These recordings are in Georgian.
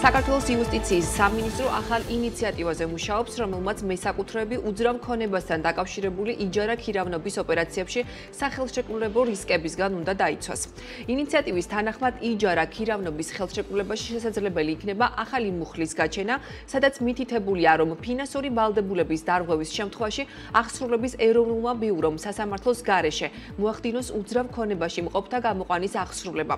საქართველოს იუსტიციის სამინისტრო ახალ ინიციატივაზე მუშაობს, რომელმაც მესაკუთრეები უძრავ ქონებასთან დაკავშირებული იჯარა ქირავნობის ოპერაციებში სახელშეკრულებო რისკებისგან უნდა დაიცვას. ინიციატივის თანახმად იჯარა ქირავნობის ხელშეკრულებაში შესაძლებელი იქნება ახალი მუხლის გაჩენა, სადაც მითითებულია, რომ ფინანსური ვალდებულების დარღვევის შემთხვევაში აღსრულების ეროვნულმა ბიურომ სასამართლოს გარეშე მოახდინოს უძრავ ქონებაში მყოფთა გამოყვანის აღსრულება.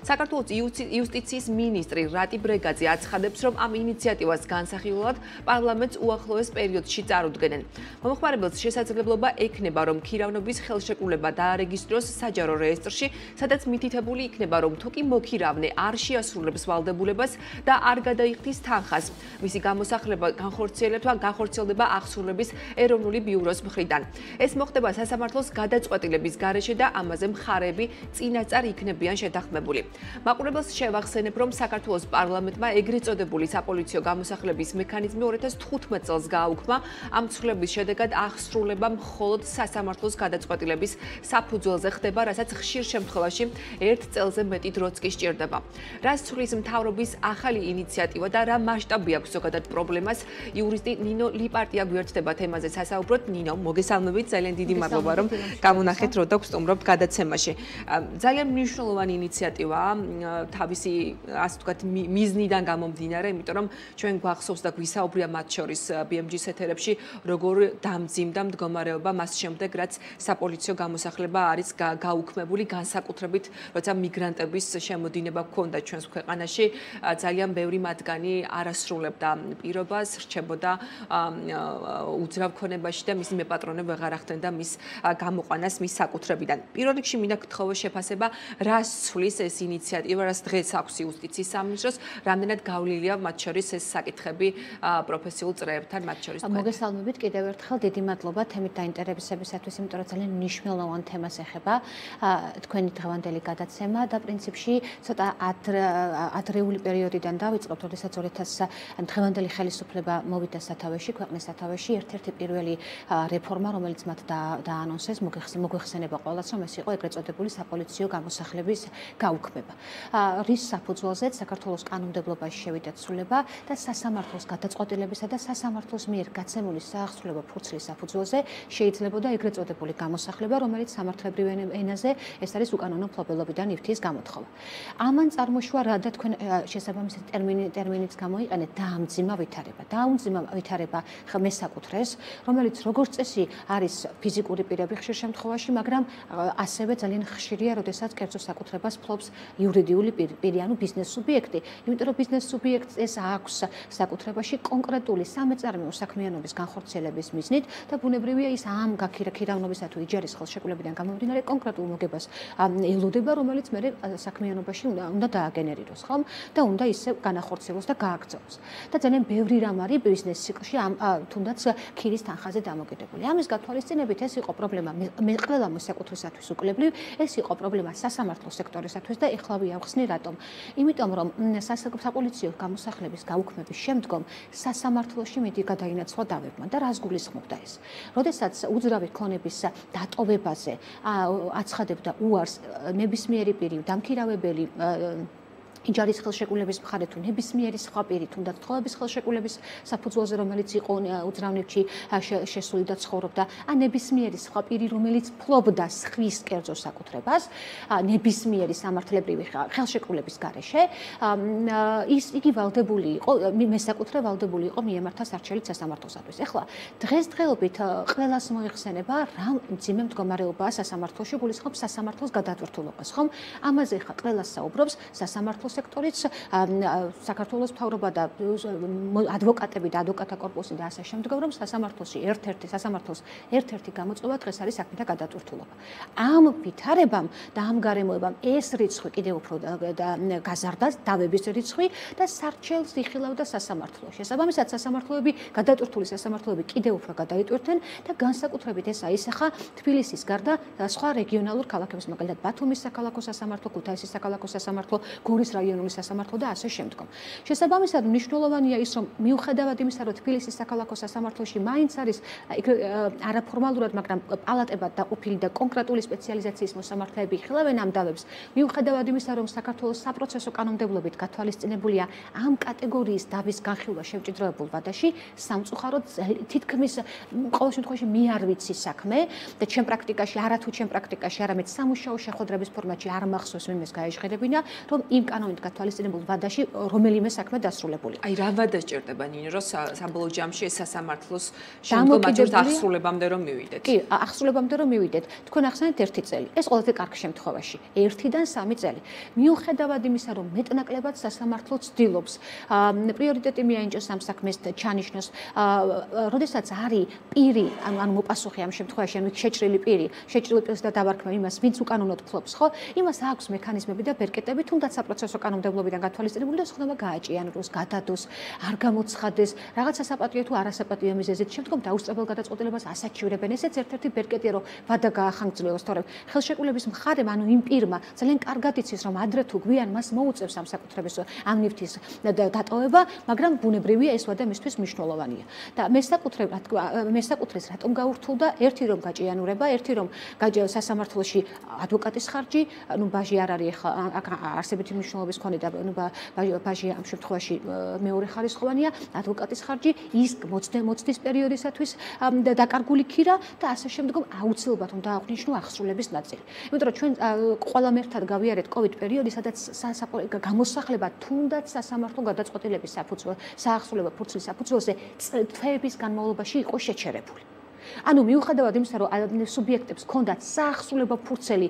საქართველოს იუსტიციის მინისტრი რატი ბრეგაძე აცხადებს, რომ ამ ინიციატივას განსახილველად პარლამენტს უახლოეს პერიოდში წარუდგენენ. მომხმარებელს შესაძლებლობა ექნება, რომ ქირავნობის ხელშეკრულება დაარეგისტროს საჯარო რეესტრში, სადაც მითითებული იქნება, რომ თუ კი მოქირავნე არ შეასრულებს ვალდებულებას და არ გადაიხდის თანხას, მისი გამოსახლება განხორციელდება აღსრულების ეროვნული ბიუროს მხრიდან. ეს მოხდება სასამართლოს გადაწყვეტილების გარეშე და ამაზე მხარეები წინასწარ იქნებიან შეთანხმებული. მაყურებელს შევახსენებ, რომ საქართველოს პარლამენტმა ეგრეთ წოდებული საპოლიციო გამოსახლების მექანიზმი 2015 წელს გააუქმა. ამ ცვლილების შედეგად აღსრულება მხოლოდ სასამართლოს გადაწყვეტილების საფუძველზე ხდება, რასაც ხშირ შემთხვევაში 1 წელზე მეტი დროც კი სჭირდება. რას ცვლის მთავრობის ახალი ინიციატივა და რა მასშტაბი აქვს ზოგადად პრობლემას, იურისტი ნინო ლიპარტია გვერდდება თემაზე სასაუბროთ. ნინო, მოგესალმებით, ძალიან დიდი მადლობა, რომ გამონახეთ რო და გვსტუმრობთ გადაცემაში. ძალიან მნიშვნელოვანი ინიციატივაა თავისი, ასე ვთქვათ, მიზნიდან გამომდინარე, იმიტომ რომ ჩვენ გვახსოვს და გვისაუბრია მათ შორის BMG-ის ეთერებში, როგორ დამძიმდა მდგომარეობა მას შემდეგ, რაც საპოლიციო გამოსახლება არის გაუქმებული, განსაკუთრებით, როცა მიგრანტების შემოდინება ჰქონდა ჩვენს ქვეყანაში, ძალიან ბევრი მათგანი არ ასრულებდა პირობას, რჩებოდა უძრავ ქონებაში და მისი მეპატრონე ვეღარ ახდენდა მის გამოყვანას მის საკუთრებიდან. პირველ რიგში მინდა გთხოვო შეფასება, რას ცვლის ეს ინიციატივა, რას დღეს აქვს იუსტიციის სამინისტროს, რამდენად გავლილია მათ შორის ეს საკითხები პროფესიულ წრეებთან მათ შორის. მოგესალმებით კიდევ ერთხელ, დიდი მადლობა თემით დაინტერესებისათვის, იმიტომ რომ ძალიან მნიშვნელოვან თემას ეხება თქვენი დღევანდელი გადაცემა და პრინციპში ცოტა ადრეული პერიოდიდან დავიწყებთ, როდესაც 2000 დღევანდელი ხელისუფლება მოვიდა სათავეში, ქვეყნის სათავეში, ერთ-ერთი პირველი რეფორმა, რომელიც მათ დაანონსეს, მოგვეხსენება ყველას, რომ ეს იყო ეგრეთ წოდებული საპოლიციო გამოსახლების გაუქმება. რის საფუძველზეც საქართველოს კანონმდებლობაში შევიდა ცვლილება და სასამართლოს გადაწყვეტილებისა და სასამართლოს მიერ გაცემული საახსრულებო ფურცლის საფუძველზე შეიძლებოდა ეგრეთ წოდებული გამოსახლება, რომელიც სამართლებრივ ენაზე ეს არის უკანონო მფლობელობიდან იფთიის გამოთხოვა. ამან წარმოშვა რა და თქვენ შესაბამისი ტერმინიც გამოიყენეთ დაამძიმა ვითარება. დაამძიმა ვითარება მესაკუთრეს, რომელიც როგორც წესი არის ფიზიკური პირები ხშირ შემთხვევაში, მაგრამ ასევე ძალიან ხშირია, როდესაც კერძო საკუთრებას ფლობს იურიდიული პირი, ანუ ბიზნეს სუბიექტი. იმიტომ რომ ბიზნეს სუბიექტს ეს აქვს საკუთრებაში კონკრეტული სამეწარმეო საქმიანობის განხორციელების მიზნით და ბუნებრივია ის ამ ქირავნობისა თუ იჯარის ხელშეკრულებიდან გამომდინარე კონკრეტულ მოგებას ელოდება, რომელიც მე საქმიანობაში უნდა დააგენერიროს, ხომ? და უნდა ისე განახორციელოს და გააგრძელოს. და ძალიან ბევრი რამ არის ბიზნეს ციკლში თუნდაც ქირის თანხაზე დამოკიდებული. ამის გათვალისწინებით ეს იყო პრობლემა ყველა მოსაკუთრისათვის უკლებლივ, ეს იყო პრობლემა სასამართლო სექტორისათვის და ეხლა ვიახსნი რატომ. იმიტომ რომ საპოლიციო გამოსახლების გაუქმების შემდგომ სასამართლოში მიდი გადაინაცვლა დავებმა და რას გულისხმობდა ეს. როდესაც უძრავი ქონების დატოვებაზე აცხადებდა უარს ნებისმიერი პირი, დამქირავებელი იჯარის ხელშეკრულების მხარე თუ ნებისმიერი სხვა პირი, თუნდაც თხოვების ხელშეკრულების საფუძველზე, რომელიც იყო უძრავნიკში შესული და ცხოვრობდა, ან ნებისმიერი სხვა პირი, რომელიც ფლობდა სხვის კერძო საკუთრებას, ნებისმიერი სამართლებრივი ხელშეკრულების გარეშე, იგი ვალდებული იყო, მესაკუთრე ვალდებული იყო მიემართა სარჩელით სასამართლოსათვის. ეხლა დღესდღეობით ყველას მოიხსენება, რა მძიმე მდგომარეობაა სასამართლოში, გულისხმობს სასამართლოს გადატვირთულობას, ხომ? ამაზე ხა ყველას საუბრობს სასამართლოს სექტორიც, საქართველოს მთავრობა და ადვოკატები და ადვოკატთა კორპუსი და ასე შემდგომ, რომ სასამართლოს ერთ-ერთი გამოწვევა დღეს არის საქმეთა გადატვირთულობა. ამ ვითარებამ და ამ გარემოებამ ეს რიცხვი კიდევ უფრო გაზარდა, დავების რიცხვი და სარჩელს იხილავდა სასამართლო. შესაბამისად, გადატვირთული სასამართლოები კიდევ უფრო გადაიტვირთენ და განსაკუთრებით ეს აისახა თბილისის გარდა სხვა რეგიონალურ ქალაქებს, მაგალითად ბათუმის საქალაქო სასამართლო, ქუთაისის საქალაქო სასამართლო, გორის რაიონული სასამართლო და ასე შემდგომ. შესაბამისად, მნიშვნელოვანია ის, რომ მიუხედავად იმისა, რომ თბილისის საქალაქო სასამართლოში მაინც არის არაფორმალურად, მაგრამ პალატებად დაყოფილი და კონკრეტული სპეციალიზაციის მოსამართლეები იხილავენ ამ დავებს, მიუხედავად იმისა, რომ საქართველოს საპროცესო კანონმდებლობით გათვალისწინებულია ამ კატეგორიის დავის განხილვა შემჭიდროებულ ვადაში, სამწუხაროდ თითქმის ყოველ შემთხვევაში მე არ ვიცი საქმე და ჩემ პრაქტიკაში, არათუ ჩემ პრაქტიკაში, არამედ სამუშაო შეხვედრების ფორმატში არ მახსოვს ვინმეს გაეჟღერებინა, რომ იმ კანონით გათვალისწინებულ ვადაში რომელიმე საქმე დასრულებული. აი რა ვადა სჭირდება ნინო, რომ საბოლოო ჯამში ეს სასამართლოს შემდგომ აჯერთ აღსრულებამდე რომ მივიდეთ? კი, აღსრულებამდე რომ მივიდეთ. თქვენ ახსენეთ 1 წელი. ეს ყველაზე კარგ შემთხვევაში. 1-დან 3 წელი. მიუხედავად იმისა, რომ მეტნაკლებად სასამართლო ცდილობს პრიორიტეტი მიაინჭოს ამ საქმეს ჩანიშნოს, როდესაც არის პირი, ანუ მოპასუხე ამ შემთხვევაში, ანუ შეჭრილი პირი და დავარქმევ იმას, ვინც უკანონოდ ფლობს, ხო? იმას აქვს მექანიზმები და ბერკეტები, თუნდაც საპროცესო კანონმდებლობიდან გათვალისწინებული და სხვადასხვა გააჭიანოს, გადადოს, არ გამოცხადეს, რაღაცა საპატიო თუ არასაპატიო მიზეზით, შემდგომ დაუსწრებელ გადაწყვეტილებას ასაჩივრებენ. ესეც ერთ-ერთი ბერკეტია, რომ ვადა გაახანგრძლივოს, თორემ ხელშეკრულების მხარემ, ანუ იმ პირმა ძალიან კარგად იცის, რომ ადრე თუ გვიან მას მოუწევს ამ საკუთრების ამ ნივთის დატოვება, მაგრამ ბუნებრივია ეს ვადა მისთვის მნიშვნელოვანია. და მესაკუთრეს რატომ გაურთულდა? ერთი რომ გაჭიანურება, ერთი რომ სასამართლოში ადვოკატის ხარჯი, ნუ ბაჟი არ არის ახლა არსებითი მნიშვნელობის მქონე და ნუ ბაჟი ამ შემთხვევაში მეორე ხარისხოვანია, ადვოკატის ხარჯი, ის მოცდის პერიოდისათვის დაკარგული ქირა და ასე შემდგომ აუცილებლად უნდა აღნიშნო აღსრულების ნაწილი. იმიტომ რომ ჩვენ ყველამ ერთად გავიარეთ COVID პერიოდი, სადაც გამოსახლება თუნდაც სასამართლო გადაწყვეტილების საახსრულებო ფურცლის საფუძველზე თვეების განმავლობაში იყო შეჩერებული. ანუ მიუხედავად იმისა, რომ სუბიექტებს ჰქონდათ საახსრულებო ფურცელი,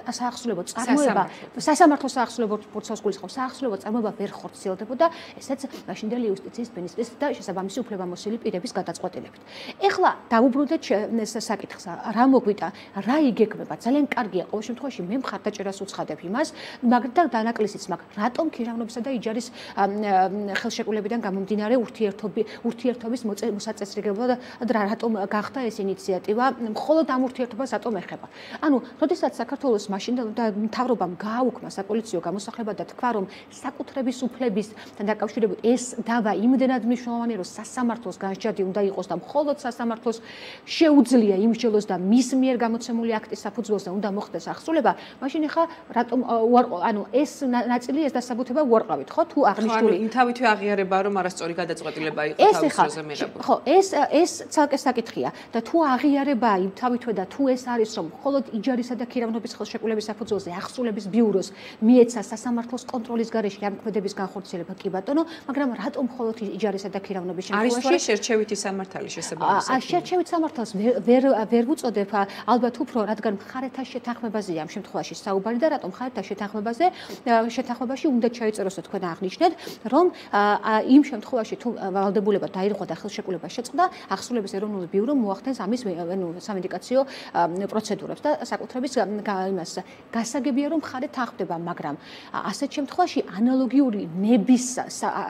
საახსრულებო წარმოება, სასამართლო საახსრულებო ფურცელს გულისხმობს, საახსრულებო წარმოება ვერ ხორციელდებოდა, ესეც მაშინდელი იუსტიციის მინისტრის და შესაბამისი უფლებამოსილი პირების გადაწყვეტილებით. ეხლა დაუბრუნდეთ საკითხს, რა მოგვიტა, რა იგეგმება, ძალიან კარგია, ყოველ შემთხვევაში მე მხარდაჭერას უცხადებ იმას, მაგრამ და დანაკლისიც მაქვს, რატომ ქირავნობისა და იჯარის ხელშეკრულებიდან გამომდინარე ურთიერთობის მოსაწესრიგებლად და რატომ გახდა ეს ინიციატივა, მხოლოდ ამ ურთიერთობას რატომ ეხება. ანუ, როდესაც საქართველოს მაშინ მთავრობამ გააუქმა საპოლიციო გამოსახლება და თქვა, რომ საკუთრების უფლებისთან დაკავშირებით ეს დავა იმდენად მნიშვნელოვანია, რომ სასამართლოს განსჯადი უნდა იყოს და მხოლოდ სასამართლოს შეუძლია იმსჯელოს და მის მიერ გამოცემული აქტის საფუძველზე უნდა მოხდეს აღსრულება, მაშინ ახლა რატომ ანუ ეს ნაწილი ეს დასაბუთება უარყავით, ხო? თუ აღნიშნული იმთავითვე აღიარება, რომ არასწორი გადაწყვეტილება იყო თავის დროზე მიღებული. ხო, ეს ცალკე საკითხია და თუ აღიარება იმთავითვე და თუ ეს არის, რომ მხოლოდ იჯარისა და ქირავნობის ხელშეკრულების საფუძველზე აღსრულების ბიუროს მიეცა სასამართლოს კონტროლის გარეშე ამ ქმედების განხორციელება, კი ბატონო, მაგრამ რატომ მხოლოდ იჯარისა და ქირავნობის შემთხვევაში არის შერჩევითი სამართალი შესაბამისად? შერჩევით სამართალს ვერ ვუწოდებ, ალბათ უფრო, რადგან მხარეთა შეთანხმებაზეა ამ შემთხვევაში საუბარი და რატომ მხარეთა შეთანხმებაში უნდა ჩაიწეროს თქვენ აღნიშნეთ, რომ იმ შემთხვევაში თუ ვალდებულება დაირღვა და ხელშეკრულება შეწყდა, აღსრულების ეროვნული ბიურო მოახდენს ამის სამედიკაციო პროცედურებს და საკუთრების იმას გასაგებია, რომ მხარე თანხმდება, მაგრამ ასეთ შემთხვევაში ანალოგიური ნების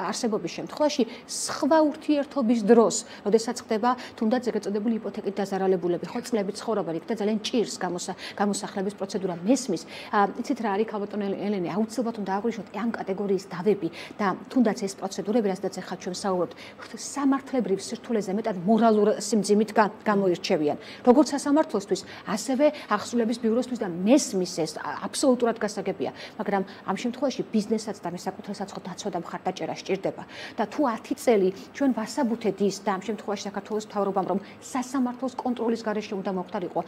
არსებობის შემთხვევაში სხვა ურთიერთობის დროს, როდესაც ხდება თუნდაც ეგრეთ წოდებული იპოთეკით დაზარალებულები, ხო, წლებით ცხოვრობენ, იქ და ძალიან ჭირს გამოსახლების პროცედურა მესმის. იცით რა არის, ქალბატონო ელენე, აუცილებლად უნდა აღვნიშნოთ ამ კატეგორიის დავები და თუნდაც ეს პროცედურები, რასაც ახლა ჩვენ საუბრობთ, სამართლებრივ სირთულეზე მეტად მორალურ სიმძიმით გამოირჩევიან. როგორც სასამართლოსთვის, ასევე აღსრულების ბიუროსთვის და მესმის ეს აბსოლუტურად გასაგებია, მაგრამ ამ შემთხვევაში ბიზნესაც და მესაკუთრესაც ხო დაცვა და მხარდაჭერა სჭირდება. და თუ 10 წელი ჩვენ ვასაბუთეთ ის და ამ შემთხვევაში საქართველოს მთავრობამ, რომ სასამართლოს კონტროლის გარეშე უნდა მოხდარიყო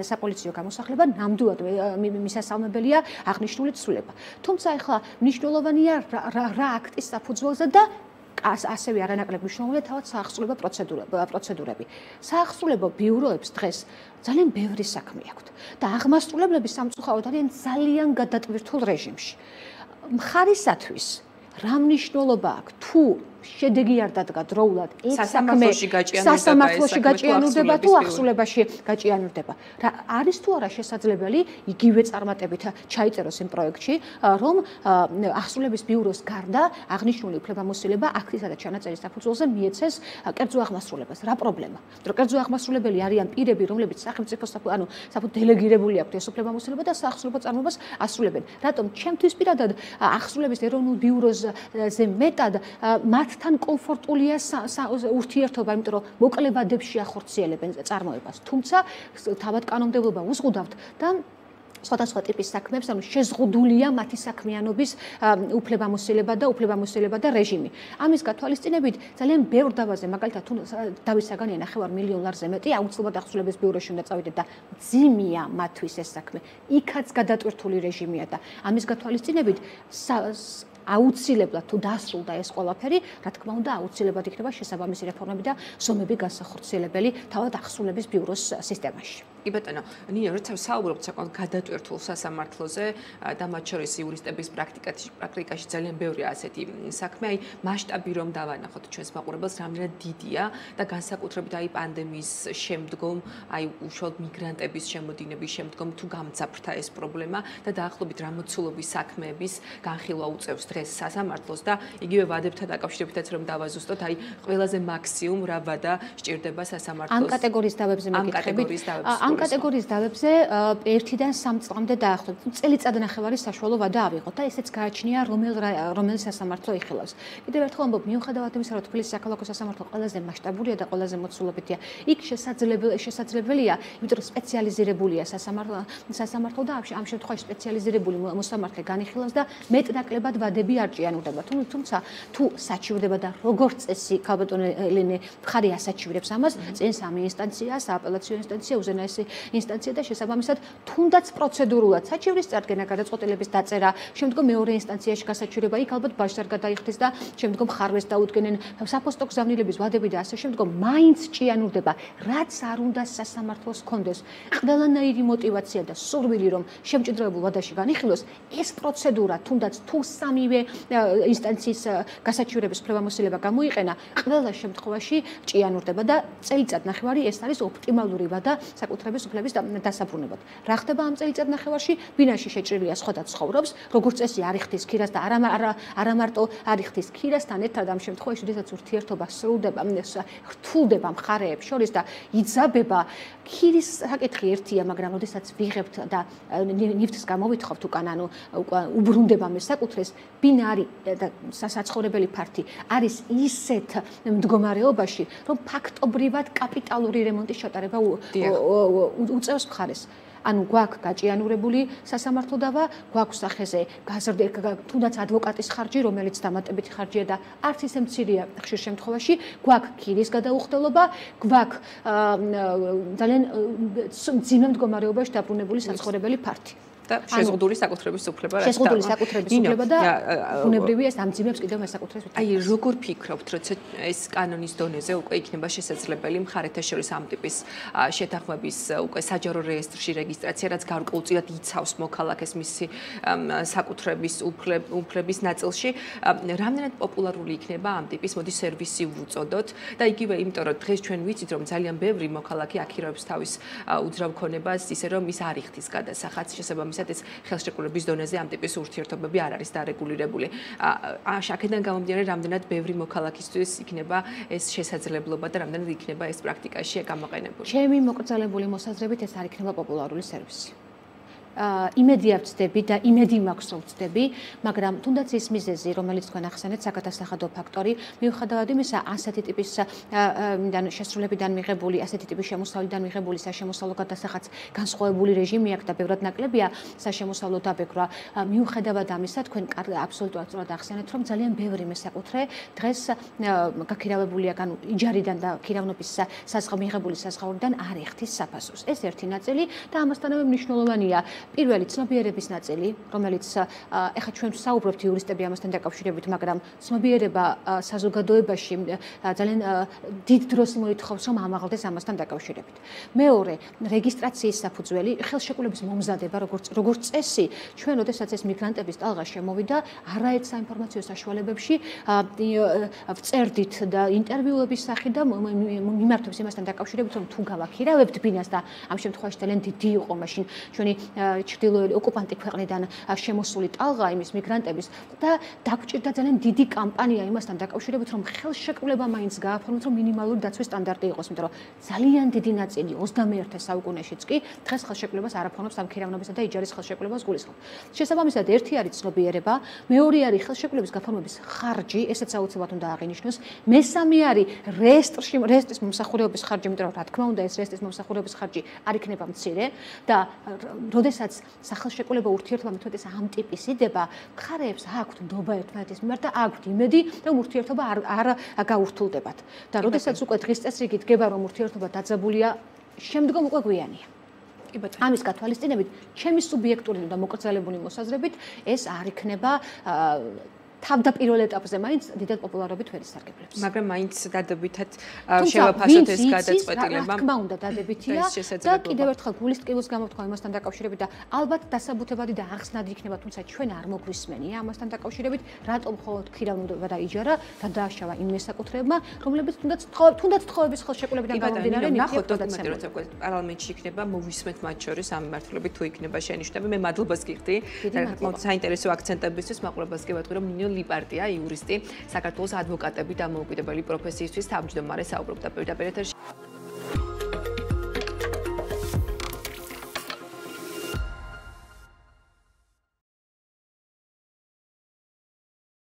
საპოლიციო გამოსახლება, ნამდვილად მისასალმებელია აღნიშნული ცვლილება. თუმცა ახლა მნიშვნელოვანია რა აქტის საფუძველზე და ასევე არანაკლებ მნიშვნელოვანია თავად საახსრულებო პროცედურები. საახსრულებო ბიუროებს დღეს ძალიან ბევრი საქმე აქვთ და აღმასრულებლები სამწუხაროდ არიან ძალიან გადატვირთულ რეჟიმში. მხარისათვის რა მნიშვნელობა აქვს თუ შედეგი არ დადგა დროულად, ეს საქმე სასამართლოში გაჭიანურდება თუ ახსულებაში გაჭიანურდება. რა არის თუ არა შესაძლებელი იგივე წარმატებით ჩაიწეროს იმ პროექტში, რომ ახსულების ბიუროს გარდა აღნიშნული უფლებამოსილება აქტისა და ჩანაწერის საფუძველზე მიეცეს კერძო აღმასრულებას. რა პრობლემა? რომ კერძო აღმასრულებელი არიან პირები, რომლებიც სახელმწიფოს დელეგირებული აქვთ ეს უფლებამოსილება და საახსრულებო წარმოებას ასრულებენ. რატომ ჩემთვის პირადად ახსულების ეროვნულ ბიუროზე მეტად მათთან კომფორტულია ურთიერთობა, იმიტომ რომ მოკლებადებს შეახორციელებენ წარმოებას. თუმცა თავად კანონმდებლობა უზღუდავთ და სხვადასხვა ტიპის საქმეებს, ანუ შეზღუდულია მათი საქმიანობის უფლებამოსილება და რეჟიმი. ამის გათვალისწინებით ძალიან ბევრ დავაზე, მაგალითად, თუ დავით საგანია 9 მილიონ ლარზე მეტი, აუცილებლად ახსულების ბიუროში უნდა წავიდეთ და ძიმია მათთვის ეს საქმე. იქაც გადატვირთული რეჟიმია და ამის გათვალისწინებით აუცილებლად თუ დასრულდა ეს ყველაფერი, რა თქმა უნდა, აუცილებლად იქნება შესაბამისი რეფორმები და ზომები განსახორციელებელი თავად ახსულების ბიუროს სისტემაში. კი ბატონო, ნია, როცა საუბრობთ საკმაოდ გადატვირთულ სასამართლოზე და მათ შორის იურისტების პრაქტიკაში ძალიან ბევრია ასეთი საქმე, აი მასშტაბი რომ დავანახოთ ჩვენს მაყურებელს, რამდენად დიდია და განსაკუთრებით აი პანდემიის შემდგომ, აი უშუალოდ მიგრანტების შემოდინების შემდგომ თუ გამძაფრდა ეს პრობლემა და დაახლოებით რა მოცულობის საქმეების განხილვა უწევს დღეს სასამართლოს და იგივე ვადებთან დაკავშირებითაც რომ დავაზუსტოთ, აი ყველაზე მაქსიმუმ რა ვადა სჭირდება სასამართლოს ამ კატეგორიის დავებზე მეკითხებით. ამ კატეგორიის დავებზე 1-დან 3 წლამდე დაახლოებით წელიწად ნახევარი საშუალო ვადა ავიღოთ და ესეც გააჩნია რომელი სასამართლო იხილავს. კიდევ ერთხელ ამბობ, მიუხედავად იმისა, რომ თბილისის საქალაქო სასამართლო ყველაზე მასშტაბურია და ყველაზე მოცულობითია, იქ შესაძლებელია, იმიტომ რომ სპეციალიზირებულია სასამართლო და ამ შემთხვევაში სპეციალიზირებული მოსამართლე განიხილავს და მეტნაკლებად ვადები არ ჭიანურდება. თუმცა თუ საჩივრდება და როგორც წესი, ქალბატონი ელენე მხარი ასაჩივრებს ამას, წინ სამი ინსტანცია, სააპელაციო ინსტანცია, უზენაესი ინსტანცია და შესაბამისად თუნდაც პროცედურულად საჩივრის წარდგენა, გადაწყვეტილების დაწერა, შემდგომ მეორე ინსტანციაში გასაჩივრება, იქ ალბათ ბაჟს არ გადაიხდეს და შემდგომ ხარვეს დაუდგენენ, საფოსტო გზავნილების ვადები და ასე შემდგომ მაინც ჭიანურდება, რაც არ უნდა სასამართლოს კონდეს. ყველანაირი мотиваცია და სურვილი რომ შემჭიდროებულ ვადაში განიხილოს, ეს პროცედურა თუნდაც თუ სამივე ინსტანციის გასაჩივრების უფლებამოსილება გამოიყენა, ყველა შემთხვევაში ჭიანურდება და წელიწად ნახევარი ეს არის ოპტიმალური ვადა საკუთრების უფლების დასაბრუნებლად. რა ხდება ამ წელიწად ნახევარში? ბინაში შეჭრილია სხვა და ცხოვრობს, როგორც წესი არ იხდის ქირას და არა მარტო არ იხდის ქირასთან ერთად ამ შემთხვევაში, როდესაც ურთიერთობა სრულდება, რთულდება მხარეებს შორის და იძაბება, ქირის საკითხი ერთია, მაგრამ როდესაც ვიღებთ და ნივთს გამოვითხოვთ უკან, ანუ უბრუნდება მე საკუთრეს, ბინა არის და საცხოვრებელი ფართი არის ისეთ მდგომარეობაში, რომ ფაქტობრივად კაპიტალური რემონტის ჩატარება უწევს მხარეს. ანუ გვაქვს გაჭიანურებული სასამართლო დავა, გვაქვს სახეზე თუნდაც ადვოკატის ხარჯი, რომელიც დამატებითი ხარჯია და არც ისე მცირეა ხშირ შემთხვევაში, გვაქვს ქირის გადაუხდელობა, გვაქვს ძალიან მძიმე მდგომარეობაში დაბრუნებული საცხოვრებელი ფართი. და შეზღუდული საკუთრების უფლება რა შეზღუდული საკუთრების უფლება და უნებრივია ეს ამძიმებს კიდევ მე საკუთრების უფლებას. აი როგორ ფიქრობთ, როცა ეს კანონის დონეზე უკვე იქნება შესაძლებელი მხარეთა შორის ამ ტიპის შეთანხმების უკვე საჯარო რეესტრში რეგისტრაცია, რაც გარკვეულწილად იცავს მოქალაქეს მისი საკუთრების უფლების ნაწილში, რამდენად პოპულარული იქნება ამ ტიპის მოდი სერვისი ვუწოდოთ და იგივე იმიტომ რომ დღეს ჩვენ ვიცით რომ ძალიან ბევრი მოქალაქე აქირებს თავის უძრავ ქონებას ისე რომ ის არ იხდის გადასახადს შესაბამისად ეს ხელშეკრულების დონეზე ამ ტიპის ურთიერთობები არ არის დარეგულირებული. აქედან გამომდინარე, რამდენად ბევრი მოქალაქისთვის იქნება ეს შესაძლებლობა და რამდენად იქნება ეს პრაქტიკაში გამოყენებული. ჩემი მოკრძალებული მოსაზრებით ეს არ იქნება პოპულარული სერვისი. იმედი არ ვწდები და იმედი მაქვს რომ ვწდები, მაგრამ თუნდაც ის მიზეზი, რომელიც თქვენ ახსენეთ, საგადასახადო ფაქტორი, მიუხედავად იმისა, ასეთი ტიპის შესრულებიდან მიღებული, ასეთი ტიპის შემოსავლიდან მიღებული საშემოსავლო გადასახადს განსხვავებული რეჟიმი აქვს და ბევრად ნაკლებია საშემოსავლო დაბეჭდვა. მიუხედავად ამისა, თქვენ აბსოლუტურად სწორად ახსენეთ, რომ ძალიან ბევრი მესაკუთრე დღეს გაქირავებულია, ანუ იჯარიდან და ქირავნობის მიღებული საზღაურიდან არ იხდის საფასურს. ეს ერთი ნაწილი და ამასთანავე მნიშვნელოვანია პირველი ცნობიერების ნაწილი, რომელიც ეხლა ჩვენ საუბრობთ იურისტები ამასთან დაკავშირებით, მაგრამ ცნობიერება საზოგადოებაში ძალიან დიდ დროს მოითხოვს, რომ ამაღლდეს ამასთან დაკავშირებით. მეორე, რეგისტრაციის საფუძველი, ხელშეკრულების მომზადება, როგორც წესი, ჩვენ როდესაც ეს მიგრანტების ტალღა შემოვიდა, არაერთ საინფორმაციო საშუალებებში ვწერდით და ინტერვიუების სახით და მიმართებს იმასთან დაკავშირებით, რომ თუ გავაქირავებთ ბინას და ამ შემთხვევაში ძალიან დიდი იყო მაშინ ჩვენი ჩრდილოელი ოკუპანტი ქვეყნიდან შემოსული ტალღა იმის მიგრანტების და დაგვჭირდა ძალიან დიდი კამპანია იმასთან დაკავშირებით, რომ ხელშეკრულება მაინც გააფორმოთ, რომ მინიმალური დაცვის სტანდარტი იყოს, იმიტომ რომ ძალიან დიდი ნაწილი 21 საუკუნეშიც კი დღეს ხელშეკრულებას არ აფორმებს ამ ქირავნობისა და იჯარის ხელშეკრულებას გულისხმობ. შესაბამისად, ერთი არის ცნობიერება, მეორე არის ხელშეკრულების გაფორმების ხარჯი, ესეც აუცილებლად უნდა აღინიშნოს. მესამე არის რეესტრის მომსახურების ხარჯი, იმიტომ რომ რა თქმა უნდა ეს რეესტრის მომსახურების ხარჯი არ იქნება მცირე და როდესაც სახელშეკრულება ურთიერთობა მეთოდეს ამ ტიპის იდება, მხარეებს აქვთ ნდობა ერთმანეთის მიმართ და აქვთ იმედი, რომ ურთიერთობა არ გაურთულდებათ. და როდესაც უკვე დღის წესრიგი დგება, რომ ურთიერთობა დაძაბულია, შემდგომ უკვე გვიანია. ამის გათვალისწინებით, ჩემი სუბიექტური და მოკრძალებული მოსაზრებით, ეს არ იქნება თავდაპირველ ეტაპზე მაინც დიდად პოპულარობით ვერ ისარგებლებს. მაგრამ მაინც დადებითად შევაფასოთ ეს გადაწყვეტილება. რა თქმა უნდა, დადებითია და კიდევ ერთხელ გულის ტკივილს გამოთქვა იმასთან დაკავშირებით და ალბათ დასაბუთებადი და ახსნადი იქნება, თუმცა ჩვენ არ მოგვისმენია ამასთან დაკავშირებით, რატომ მხოლოდ ქირავნება და იჯარა გადააშავა იმ მესაკუთრეებმა, რომლებიც თუნდაც თხოვების ხელშეკრულებიდან გამომდინარე ნახოთ დოკუმენტი, როცა პარლამენტში იქნება, მოვისმენთ მათ შორის ამ მიმართულებით თუ იქნება შენიშვნები. მე მადლობას გიხდი. საინტერესო აქცენტებისთვის მაყურებელს კი ვატყვი, რომ ნინო ლიპარტია, იურისტი, საქართველოს ადვოკატები და დამოუკიდებელი პროფესიისთვის თავმჯდომარე საუბრობდა პირდაპირ ეთერში.